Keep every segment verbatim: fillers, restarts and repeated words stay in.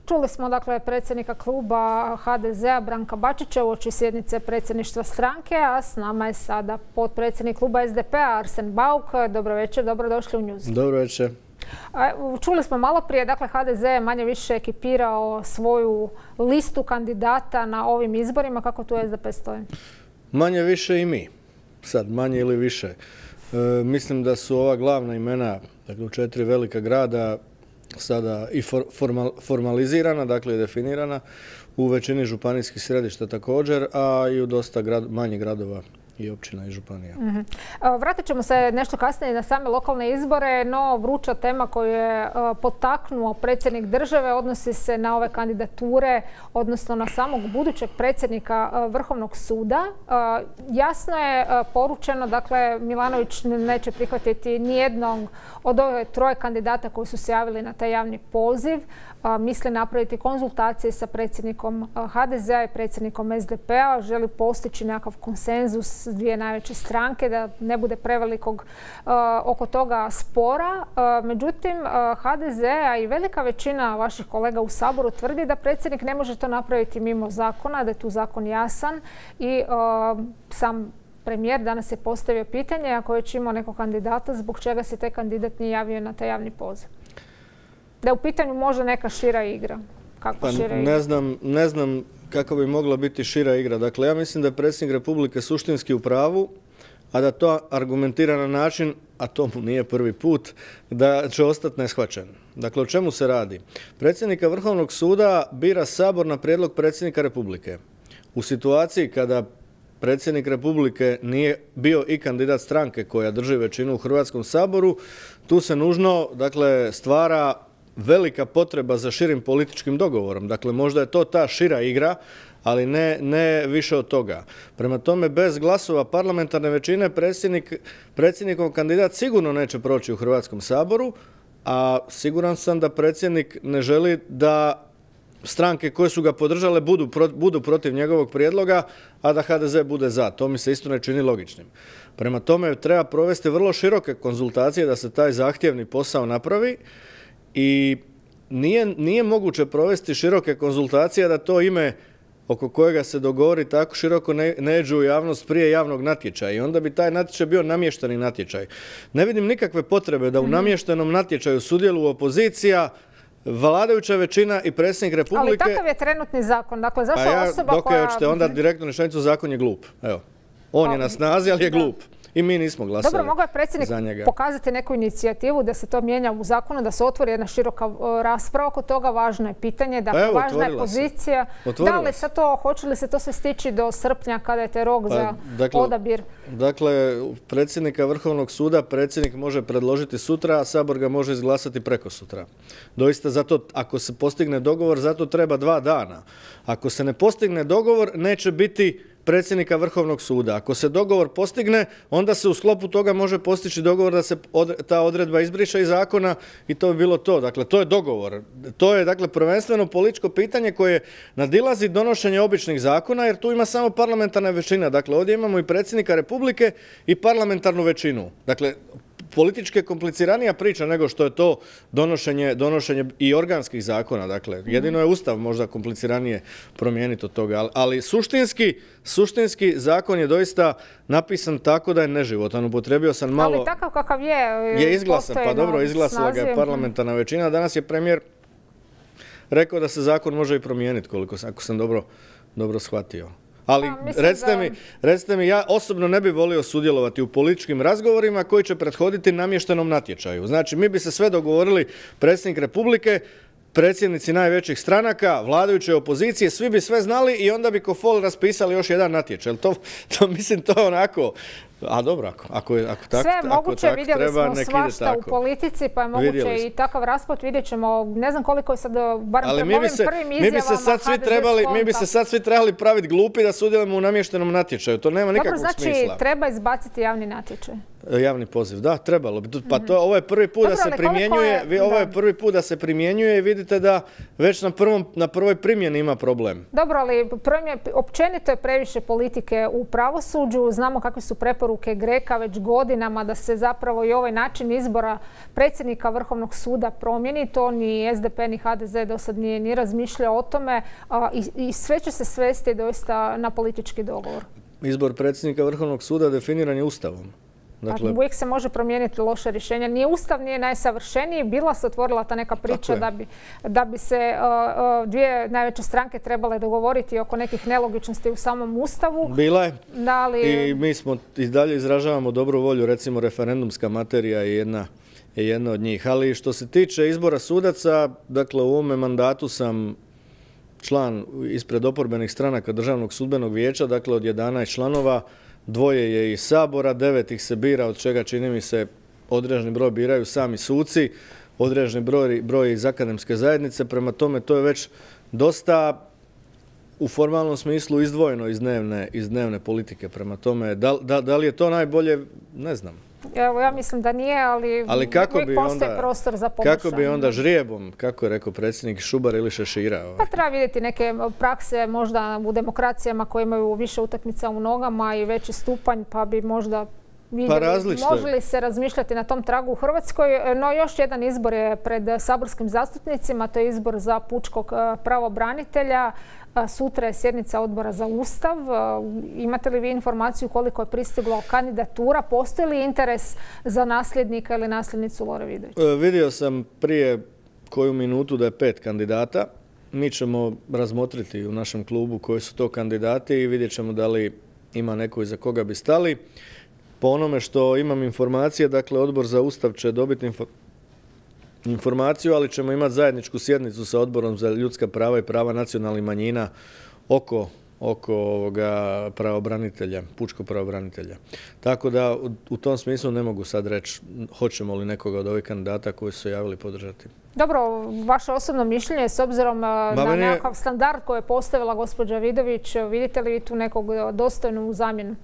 Čuli smo dakle predsjednika kluba H D Z-a Branka Bačića uoči sjednice predsjedništva stranke, a s nama je sada potpredsjednik kluba S D P-a Arsen Bauk. Dobro večer, dobrodošli u News. Dobro večer. Čuli smo malo prije, dakle H D Z je manje više ekipirao svoju listu kandidata na ovim izborima. Kako tu S D P stoji? Manje više i mi. Sad manje ili više. E, mislim da su ova glavna imena, dakle u četiri velika grada, sada i for, formal, formalizirana, dakle i definirana, u većini županijskih središta također, a i u dosta grad, manjih gradova i općina i županija. Mm-hmm. Vratit ćemo se nešto kasnije na same lokalne izbore, no vruća tema koju je potaknuo predsjednik države odnosi se na ove kandidature, odnosno na samog budućeg predsjednika Vrhovnog suda. Jasno je poručeno, dakle Milanović neće prihvatiti nijednog od ove troje kandidata koji su se javili na taj javni poziv. Misli napraviti konzultacije sa predsjednikom H D Z-a i predsjednikom S D P-a. Želi postići nekakav konsenzus s dvije najveće stranke, da ne bude prevelikog uh, oko toga spora. Uh, međutim, uh, H D Z, a i velika većina vaših kolega u Saboru tvrdi da predsjednik ne može to napraviti mimo zakona, da je tu zakon jasan i uh, sam premijer danas je postavio pitanje ako je već imao nekog kandidata, zbog čega se taj kandidat nije javio na taj javni poziv. Da je u pitanju možda neka šira igra. Kako pa šira ne igra? znam, ne znam kako bi mogla biti šira igra. Dakle, ja mislim da je predsjednik Republike suštinski u pravu, a da to argumentira na način, a to mu nije prvi put, da će ostati neshvaćen. Dakle, o čemu se radi? Predsjednika Vrhovnog suda bira Sabor na prijedlog predsjednika Republike. U situaciji kada predsjednik Republike nije bio i kandidat stranke koja drži većinu u Hrvatskom saboru, tu se nužno, dakle, stvara velika potreba za širim političkim dogovorom. Dakle, možda je to ta šira igra, ali ne, ne više od toga. Prema tome, bez glasova parlamentarne većine predsjednik, predsjednikov kandidat sigurno neće proći u Hrvatskom saboru, a siguran sam da predsjednik ne želi da stranke koje su ga podržale budu, budu protiv njegovog prijedloga, a da H D Z bude za. To mi se isto ne čini logičnim. Prema tome, treba provesti vrlo široke konzultacije da se taj zahtjevni posao napravi. I nije, nije moguće provesti široke konzultacije da to ime oko kojega se dogovori tako široko ne, ne iđe u javnost prije javnog natječaja i onda bi taj natječaj bio namješteni natječaj. Ne vidim nikakve potrebe da u namještenom natječaju sudjeluju opozicija, vladajuća većina i predsjednik Republike. Ali takav je trenutni zakon. Dakle, zašto pa ja, osoba dok koja... dok je onda direktno rečenicu, zakon je glup. Evo. On je na snazi, ali je glup. I mi nismo glasali za njega. Dobro, mogao je predsjednik pokazati neku inicijativu da se to mijenja u zakonu, da se otvori jedna široka rasprava oko toga. Važno je pitanje, dakle, evo, važna je pozicija. Da li se to, hoće li se to sve stići do srpnja kada je taj rok pa, za dakle, odabir? Dakle, predsjednika Vrhovnog suda predsjednik može predložiti sutra, a Sabor ga može izglasati preko sutra. Doista, zato, ako se postigne dogovor, zato treba dva dana. Ako se ne postigne dogovor, neće biti predsjednika Vrhovnog suda. Ako se dogovor postigne, onda se u sklopu toga može postići dogovor da se od, ta odredba izbriše iz zakona i to bi bilo to. Dakle, to je dogovor. To je, dakle, prvenstveno političko pitanje koje nadilazi donošenje običnih zakona, jer tu ima samo parlamentarna većina. Dakle, ovdje imamo i predsjednika Republike i parlamentarnu većinu. Dakle, politički je kompliciranija priča nego što je to donošenje, donošenje i organskih zakona. Dakle, jedino je Ustav možda kompliciranije promijeniti od toga. Ali, ali suštinski, suštinski zakon je doista napisan tako da je neživotan. Upotrijebio sam malo... Ali takav kakav je... Je izglasan, pa dobro, izglasala ga je parlamentarna većina. Danas je premijer rekao da se zakon može i promijeniti, koliko sam, ako sam dobro, dobro shvatio. Ali pa, recite, da... mi, recite mi, ja osobno ne bih volio sudjelovati u političkim razgovorima koji će prethoditi namještenom natječaju. Znači, mi bi se sve dogovorili, predsjednik Republike, predsjednici najvećih stranaka, vladajuće opozicije, svi bi sve znali i onda bi ko fol raspisali još jedan natječaj. To, to mislim, to je onako... A dobro, ako, ako, ako tako, sve je moguće, ako vidjeli treba, smo svašta u politici, pa je moguće i takav raspad, vidjet ćemo, ne znam koliko je sad, barem prema ovim prvim izjavama, mi bi se sad svi trebali, mi bi se sad svi trebali praviti glupi da sudjelujemo u namještenom natječaju, to nema nikakvog dobro, znači, smisla. Dobro, znači treba izbaciti javni natječaj. Javni poziv, da, trebalo bi. Pa to, ovo je prvi put da se primjenjuje, ovo je prvi put da se primjenjuje i vidite da već na prvom, na prvoj primjeni ima problem. Dobro, ali općenito je previše politike u pravosuđu. Znamo kakve su preporuke Greka već godinama da se zapravo i ovaj način izbora predsjednika Vrhovnog suda promijeni. To ni S D P ni H D Z do sad nije ni razmišljao o tome i, i sve će se svesti doista na politički dogovor. Izbor predsjednika Vrhovnog suda definiran je Ustavom. Dakle, uvijek se može promijeniti loše rješenja. Nije Ustav, nije najsavršeniji. Bila se otvorila ta neka priča da bi, da bi se uh, uh, dvije najveće stranke trebale dogovoriti oko nekih nelogičnosti u samom Ustavu. Bila je. Da li... I mi smo i dalje izražavamo dobru volju, recimo referendumska materija je jedna, je jedna od njih. Ali što se tiče izbora sudaca, dakle u ovome mandatu sam član ispred oporbenih stranaka Državnog sudbenog vijeća, dakle od jedanaest članova, dvoje je iz Sabora, devet ih se bira, od čega čini mi se određeni broj biraju sami suci, određeni broj, broj iz akademske zajednice, prema tome to je već dosta u formalnom smislu izdvojeno iz dnevne, iz dnevne politike, prema tome da, da, da li je to najbolje, ne znam. Evo, ja mislim da nije, ali, ali kako bi postoji onda, prostor za poboljšanje. Kako bi onda žrijebom, kako je rekao predsjednik Šubar ili Šešira? Ovaj. Pa treba vidjeti neke prakse možda u demokracijama koje imaju više utakmica u nogama i veći stupanj, pa bi možda vidjeli, pa može li se razmišljati na tom tragu u Hrvatskoj. No još jedan izbor je pred saborskim zastupnicima, to je izbor za pučkog pravobranitelja. Sutra je sjednica odbora za Ustav. Imate li vi informaciju koliko je pristiglo kandidatura? Postoji li interes za nasljednika ili nasljednicu Lore Vidović? E, vidio sam prije koju minutu da je pet kandidata. Mi ćemo razmotriti u našem klubu koji su to kandidati i vidjet ćemo da li ima neko iza koga bi stali. Po onome što imam informacije, dakle odbor za Ustav će dobiti informaciju informaciju, ali ćemo imati zajedničku sjednicu sa Odborom za ljudska prava i prava nacionalnih manjina oko, oko ovoga pravobranitelja, pučkog pravobranitelja. Tako da u, u tom smislu ne mogu sad reći hoćemo li nekoga od ovih kandidata koji su se javili podržati. Dobro, vaše osobno mišljenje s obzirom na nekakav standard koji je postavila gospođa Vidović, vidite li vi tu nekog dostojnu zamjenu?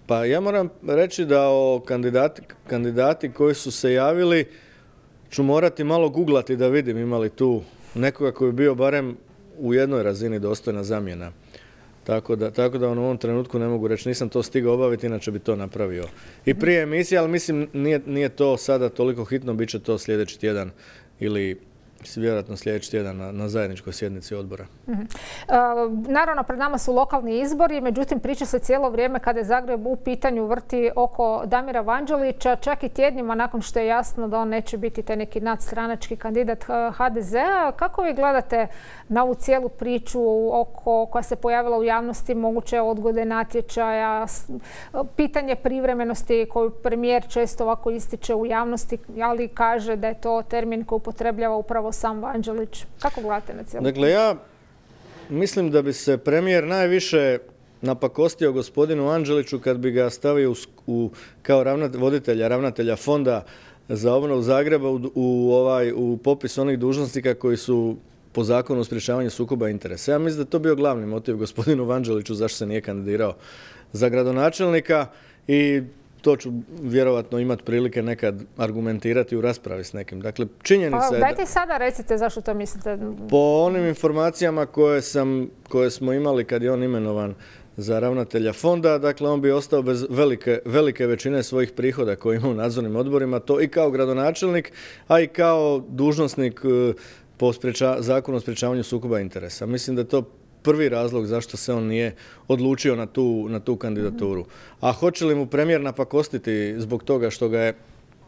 Pa ja moram reći da o kandidati, kandidati koji su se javili ću morati malo googlati da vidim ima li tu nekoga koji je bio barem u jednoj razini dostojna zamjena. Tako da, tako da u ovom trenutku ne mogu reći, nisam to stigao obaviti, inače bi to napravio i prije emisije, ali mislim nije, nije to sada toliko hitno, bit će to sljedeći tjedan ili vjerojatno sljedeći tjedan na, na zajedničkoj sjednici odbora. Mm-hmm. e, naravno, pred nama su lokalni izbori, međutim priča se cijelo vrijeme kada je Zagreb u pitanju vrti oko Damira Vanđelića, čak i tjednima nakon što je jasno da on neće biti taj neki nadstranački kandidat H D Z-a. Kako vi gledate na ovu cijelu priču oko, koja se pojavila u javnosti, moguće odgode natječaja, pitanje privremenosti koju premijer često ovako ističe u javnosti, ali kaže da je to termin koji upotrebljava upravo sam Vanđelić. Kako gledate na cijelu? Dakle, ja mislim da bi se premijer najviše napakostio gospodinu Vanđeliću kad bi ga stavio u, u, kao ravnat, voditelja, ravnatelja fonda za obnovu Zagreba u, u, ovaj, u popis onih dužnosnika koji su po zakonu o sprječavanju sukoba interesa. Ja mislim da je to bio glavni motiv gospodinu Vanđeliću zašto se nije kandidirao za gradonačelnika i to ću vjerovatno imati prilike nekad argumentirati u raspravi s nekim. Dakle, činjenica pa, je... Dajte sada recite zašto to mislite. Po onim informacijama koje, sam, koje smo imali kad je on imenovan za ravnatelja fonda, dakle on bi ostao bez velike, velike većine svojih prihoda koje ima u nadzornim odborima, to i kao gradonačelnik, a i kao dužnosnik po spreča, zakonu o sprječavanju sukoba interesa. Mislim da je to prvi razlog zašto se on nije odlučio na tu, na tu kandidaturu. A hoće li mu premijer napakostiti zbog toga što ga je,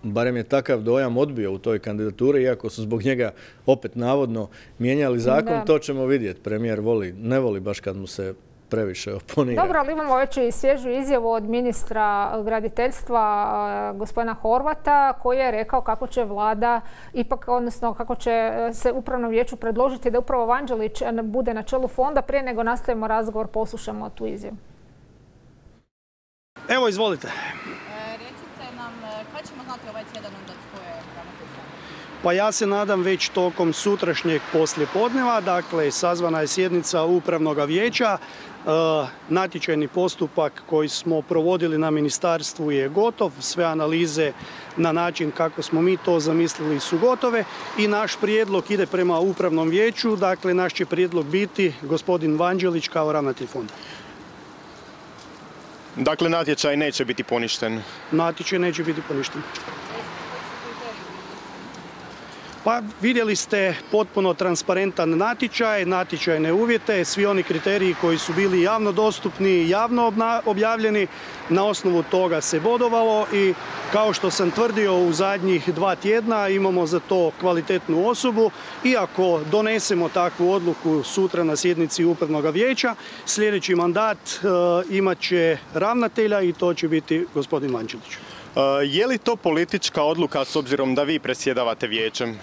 barem je takav dojam, odbio u toj kandidaturi, iako su zbog njega opet navodno mijenjali zakon, da. To ćemo vidjeti. Premijer voli, ne voli baš kad mu se previše oponira. Dobro, ali imamo već i svježu izjavu od ministra graditeljstva gospodina Horvata koji je rekao kako će vlada ipak, odnosno kako će se upravnom vijeću predložiti da upravo Vanđelić bude na čelu fonda. Prije nego nastavimo razgovor, poslušamo tu izjavu. Evo, izvolite. E, recite nam, kada ćemo znati ovaj tjedan onda tko je ravnatelj fonda? Pa ja se nadam već tokom sutrašnjeg poslijepodneva, dakle sazvana je sjednica upravnog vijeća. Natječajni postupak koji smo provodili na ministarstvu je gotov, sve analize na način kako smo mi to zamislili su gotove i naš prijedlog ide prema upravnom vijeću, dakle naš će prijedlog biti gospodin Vanđelić kao ravnatelj fonda. Dakle, natječaj neće biti poništen? Natječaj neće biti poništen. Pa vidjeli ste potpuno transparentan natječaj, natječajne uvjete, svi oni kriteriji koji su bili javno dostupni, javno objavljeni, na osnovu toga se bodovalo i kao što sam tvrdio u zadnjih dva tjedna imamo za to kvalitetnu osobu i ako donesemo takvu odluku sutra na sjednici upravnog vijeća, sljedeći mandat e, imat će ravnatelja i to će biti gospodin Vanđelić. Je li to politička odluka s obzirom da vi predsjedavate vijećem?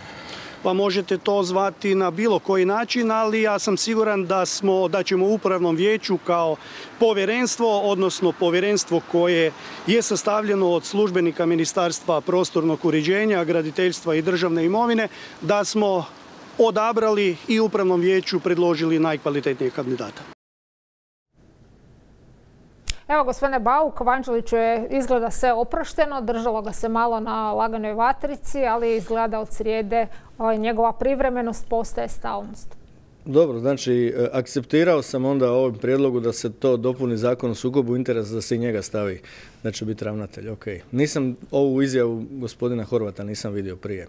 Pa možete to zvati na bilo koji način, ali ja sam siguran da, smo, da ćemo u upravnom vijeću kao povjerenstvo, odnosno povjerenstvo koje je sastavljeno od službenika Ministarstva prostornog uređenja, graditeljstva i državne imovine, da smo odabrali i upravnom vijeću predložili najkvalitetnijeg kandidata. Evo, gospodine Bauk, Vanđeliću je izgleda sve oprošteno, držalo ga se malo na laganoj vatrici, ali izgleda od srijede njegova privremenost postaje stalnost. Dobro, znači, akceptirao sam onda ovom prijedlogu da se to dopuni zakon o sukobu interesa, da se i njega stavi da će biti ravnatelj. Ok. Nisam ovu izjavu gospodina Horvata nisam vidio prije.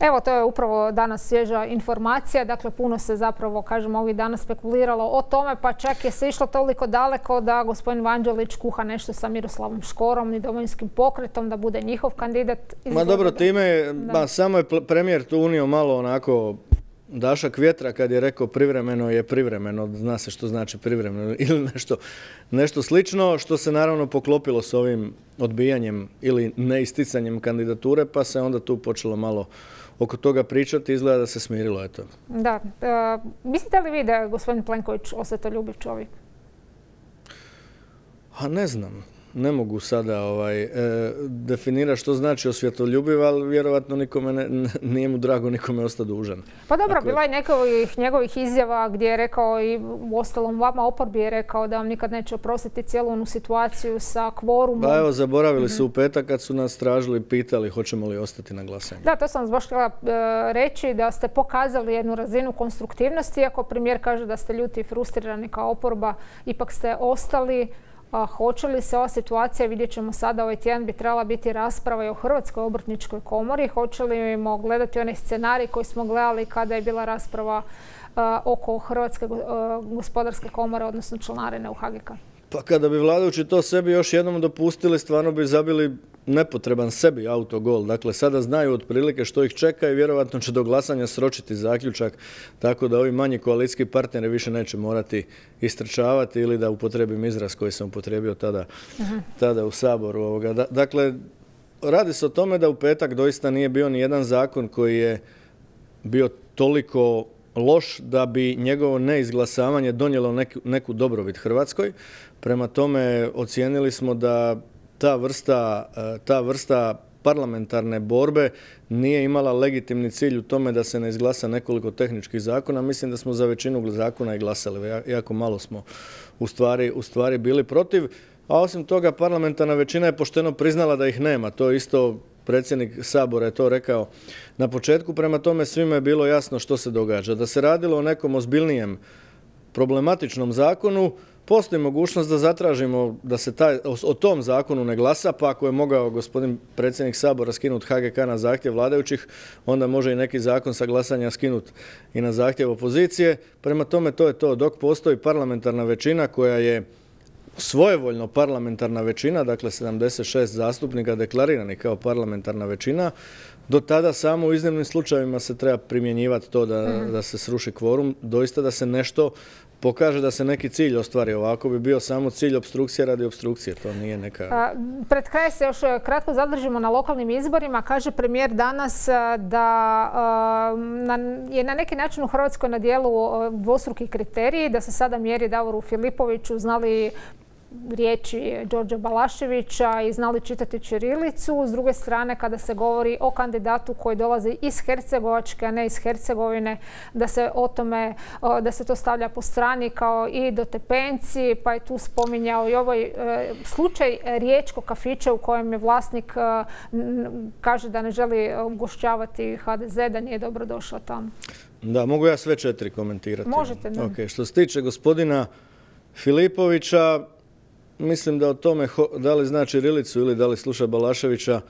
Evo, to je upravo danas svježa informacija. Dakle, puno se zapravo, kažemo, ovih dana spekuliralo o tome, pa čak je se išlo toliko daleko da gospodin Vanđelić kuha nešto sa Miroslavom Škorom i Domovinskim pokretom, da bude njihov kandidat. Ma dobro, time, ba, samo je premijer tu unio malo onako dašak vjetra kad je rekao privremeno je privremeno, zna se što znači privremeno ili nešto, nešto slično, što se naravno poklopilo s ovim odbijanjem ili neisticanjem kandidature, pa se onda tu počelo malo oko toga pričati, izgleda da se smirilo. Eto. Da. E, mislite li vi da je gospodin Plenković osvetoljubiv čovjek? A ne znam. Ne mogu sada ovaj, e, definirati što znači osvjetoljubiv, ali vjerovatno nikome ne, nije mu drago nikome ostati dužan. Pa dobro, dakle, bila je nekovih njegovih izjava gdje je rekao i u ostalom vama oporbi je rekao da vam nikad neće oprostiti cijelu onu situaciju sa kvorumom. Pa evo, zaboravili mm-hmm. su u petak kad su nas tražili, pitali hoćemo li ostati na glasanju. Da, to sam vas baš htjela e, reći, da ste pokazali jednu razinu konstruktivnosti, iako premijer kaže da ste ljuti i frustrirani kao oporba, ipak ste ostali. A hoće li se ova situacija, vidjet ćemo sada, ovaj tjedan bi trebala biti rasprava i o Hrvatskoj obrtničkoj komori. Hoće li gledati onaj scenarij koji smo gledali kada je bila rasprava uh, oko Hrvatske uh, gospodarske komore, odnosno članarine u H G K? Pa kada bi vladajući to sebi još jednom dopustili, stvarno bi zabili nepotreban sebi autogol. Dakle, sada znaju otprilike što ih čeka i vjerovatno će do glasanja sročiti zaključak, tako da ovi manji koalicijski partneri više neće morati istrčavati ili da upotrebim izraz koji sam upotrebio tada, uh-huh. tada u Saboru. Ovoga. Da, dakle, radi se o tome da u petak doista nije bio ni jedan zakon koji je bio toliko loš da bi njegovo neizglasavanje donijelo neku, neku dobrobit Hrvatskoj. Prema tome ocijenili smo da ta vrsta, ta vrsta parlamentarne borbe nije imala legitimni cilj u tome da se ne izglasa nekoliko tehničkih zakona. Mislim da smo za većinu zakona i glasali. Jako malo smo u stvari, u stvari bili protiv. A osim toga, parlamentarna većina je pošteno priznala da ih nema. To isto predsjednik Sabora je to rekao na početku. Prema tome svima je bilo jasno što se događa. Da se radilo o nekom ozbiljnijem problematičnom zakonu, postoji mogućnost da zatražimo da se taj, o, o tom zakonu ne glasa, pa ako je mogao gospodin predsjednik Sabora skinuti H G K na zahtjev vladajućih, onda može i neki zakon sa glasanja skinuti i na zahtjev opozicije. Prema tome to je to. Dok postoji parlamentarna većina koja je svojevoljno parlamentarna većina, dakle sedamdeset šest zastupnika deklariranih kao parlamentarna većina, do tada samo u iznimnim slučajevima se treba primjenjivati to da, mm. da se sruši kvorum, doista da se nešto pokaže, da se neki cilj ostvari. Ovako bi bio samo cilj opstrukcije radi opstrukcije, to nije neka... A, pred kraj se još kratko zadržimo na lokalnim izborima. Kaže premijer danas da a, na, je na neki način u Hrvatskoj na dijelu dvostruki kriteriji, da se sada mjeri Davoru Filipoviću, znali riječi Đorđa Balaševića i znali čitati ćirilicu. S druge strane, kada se govori o kandidatu koji dolazi iz Hercegovačke, a ne iz Hercegovine, da se o tome, da se to stavlja po strani kao i dotepenci, pa je tu spominjao i ovaj slučaj riječkog kafića u kojem je vlasnik kaže da ne želi ugošćavati ha de ze, da nije dobro došao tamo. Da, mogu ja sve četiri komentirati. Možete, da. Okay. Što se tiče gospodina Filipovića, mislim da o tome da li zna ćirilicu ili da li sluša Balaševića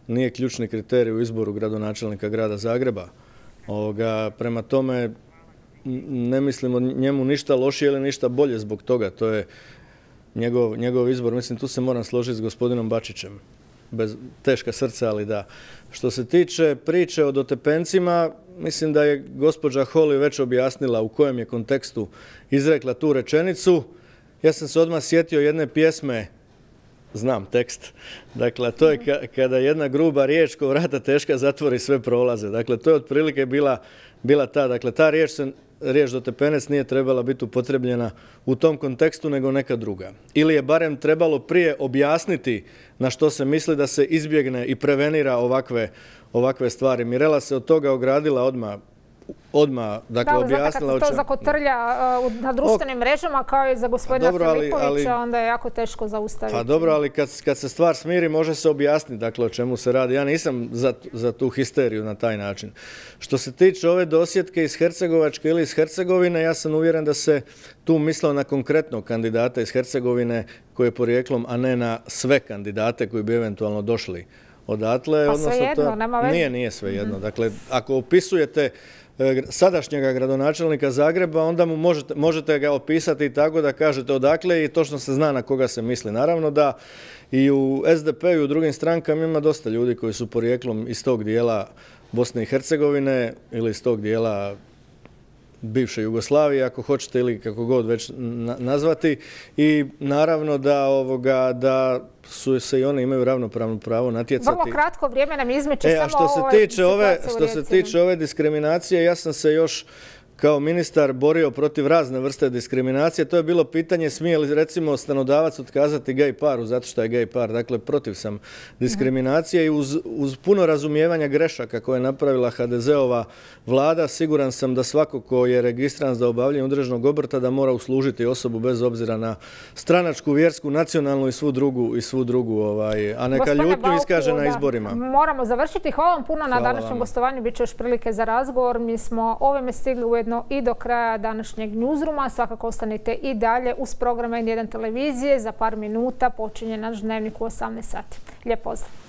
nije ključni kriterij u izboru gradonačelnika grada Zagreba. Ovoga, prema tome ne mislim o njemu ništa lošije ili ništa bolje zbog toga. To je njegov, njegov izbor. Mislim, tu se moram složiti s gospodinom Bačićem. Bez teška srca, ali da. Što se tiče priče o dotepencima, mislim da je gospođa Holy već objasnila u kojem je kontekstu izrekla tu rečenicu. Ja sam se odmah sjetio jedne pjesme, znam tekst, dakle to je ka, kada jedna gruba riječ ko vrata teška zatvori sve prolaze. Dakle to je otprilike bila, bila ta, dakle ta riječ, se, riječ dotepenec nije trebala biti upotrebljena u tom kontekstu nego neka druga. Ili je barem trebalo prije objasniti na što se misli da se izbjegne i prevenira ovakve, ovakve stvari. Mirela se od toga ogradila odmah. Odmah, dakle, da, objasnila... Da, kad se to zakotrlja uh, na društvenim mrežama kao i za gospodina dobro, Filipovića, ali, ali, onda je jako teško zaustaviti. Pa dobro, ali kad, kad se stvar smiri, može se objasniti, dakle, o čemu se radi. Ja nisam za, za tu histeriju na taj način. Što se tiče ove dosjetke iz Hercegovačke ili iz Hercegovine, ja sam uvjeren da se tu mislilo na konkretnog kandidata iz Hercegovine koji je porijeklom, a ne na sve kandidate koji bi eventualno došli odatle. Pa odnosno, svejedno, to, nema veze. Nije, nije svejedno. Mm. Dakle, ako opisujete sadašnjega gradonačelnika Zagreba, onda mu možete, možete ga opisati tako da kažete odakle i točno se zna na koga se misli. Naravno da i u es de pe i u drugim strankama ima dosta ljudi koji su porijeklom iz tog dijela Bosne i Hercegovine ili iz tog dijela bivše Jugoslavije, ako hoćete, ili kako god već nazvati. I naravno da, ovoga, da su se i one imaju ravnopravno pravo natjecati. Vrlo kratko vrijeme nam izmeće e, samo što se ove tiče ove, Što se tiče ove diskriminacije, ja sam se još kao ministar borio protiv razne vrste diskriminacije. To je bilo pitanje smije li recimo stanodavac otkazati gej paru zato što je gej par. Dakle, protiv sam diskriminacije i uz, uz puno razumijevanja grešaka koje je napravila ha de zeova vlada, siguran sam da svako ko je registriran za obavljanje određenog obrta da mora uslužiti osobu bez obzira na stranačku, vjersku, nacionalnu i svu drugu, i svu drugu ovaj, a neka Gospodine ljutnju Bauku, iskaže na da, izborima. Moramo završiti. Hvala vam puno na Hvala današnjem vam. gostovanju. Biće još prilike za razgovor. Mi smo ovime stigli ujedno i do kraja današnjeg newsrooma. Svakako ostanite i dalje uz program en jedan televizije. Za par minuta počinje naš dnevnik u osamnaest sati. Lijep pozdrav!